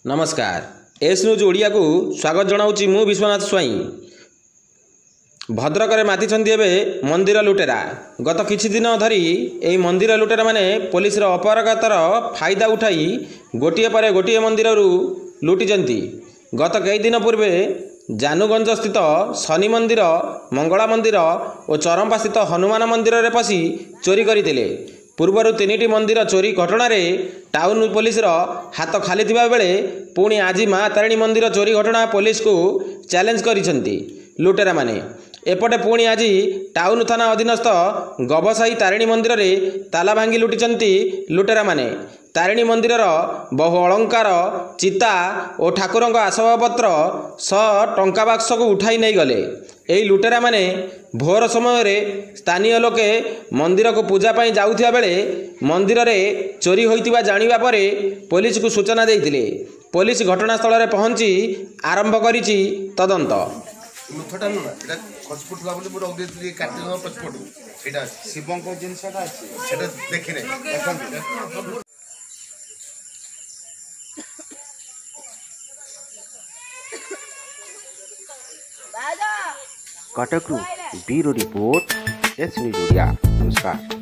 ନମସ୍କାର, S news ଓଡ଼ିଆକୁ ସ୍ୱାଗତ ଜଣାଉଛି ମୁଁ ବିଶ୍ୱନାଥ ସ୍ୱାଇଁ। ଭଦ୍ରକରେ ମାତିଛନ୍ତି ଏବେ ମନ୍ଦିର ଲୁଟେରା। ଗତ କିଛି ଦିନ ଧରି ଏହି ମନ୍ଦିର ଲୁଟେରାମାନେ ପୋଲିସର ଅପାରଗତାର ଫାଇଦା ଉଠାଇ ଗୋଟିଏ ପରେ ଗୋଟିଏ ମନ୍ଦିରରୁ ଲୁଟିଛନ୍ତି। ଗତ କେଇଦିନ ପୂର୍ବେ ଜାନୁଗଞ୍ଜ ସ୍ଥିତ ଶନି ମନ୍ଦିର, ମଙ୍ଗଳା ମନ୍ଦିର ଓ ଚରମ୍ପା ସ୍ଥିତ ହନୁମାନ ମନ୍ଦିରରେ ପଶି ଚୋରି କରିଥିଲେ। ପୂର୍ବରୁ 3ଟି ମନ୍ଦିର ଚୋରି ଘଟଣାରେ ଟାଉନ ପୋଲିସର ହାତ ଖାଲି ଥିବା ବେଳେ ପୁଣି ଆଜି ମା ତାରିଣୀ ମନ୍ଦିର ଚୋରି ଘଟଣା ପୋଲିସକୁ ଚ୍ୟାଲେଞ୍ଜ କରିଛନ୍ତି ଲୁଟେରାମାନେ। ଏପଟେ ପୁଣି ଆଜି ଟାଉନ ଥାନା ଅଧୀନସ୍ଥ ଗବସାହି ତାରିଣୀ ମନ୍ଦିରରେ ତାଲା ଭାଙ୍ଗି ଲୁଟିଛନ୍ତି ଲୁଟେରାମାନେ। ତାରିଣୀ ମନ୍ଦିରର ବହୁ ଅଳଙ୍କାର, ଚିତା ଓ ଠାକୁରଙ୍କ ଆସବାବପତ୍ର ସହ ଟଙ୍କା ବାକ୍ସକୁ ଉଠାଇ ନେଇଗଲେ। ଏହି ଲୁଟେରାମାନେ ଭୋର ସମୟରେ ସ୍ଥାନୀୟ ଲୋକେ ମନ୍ଦିରକୁ ପୂଜା ପାଇଁ ଯାଉଥିବା ବେଳେ ମନ୍ଦିରରେ ଚୋରି ହୋଇଥିବା ଜାଣିବା ପରେ ପୋଲିସକୁ ସୂଚନା ଦେଇଥିଲେ। ପୋଲିସ ଘଟଣାସ୍ଥଳରେ ପହଞ୍ଚି ଆରମ୍ଭ କରିଛି ତଦନ୍ତ। ନୁଥଟା ନୁହଁ, ଏଇଟା ଖସି ପଡୁଥିଲା ବୋଲି ମୁଁ ରଖିଦେଇଥିଲି କାର୍ତ୍ତିକ ପଛପଟୁ। ସେଇଟା ଅଛି, ଶିବଙ୍କ ଜିନିଷଟା ଅଛି, ସେଟା ଦେଖିନେ ଦେଖନ୍ତୁ। କଟକରୁ bureau report, S news Odia. ନମସ୍କାର।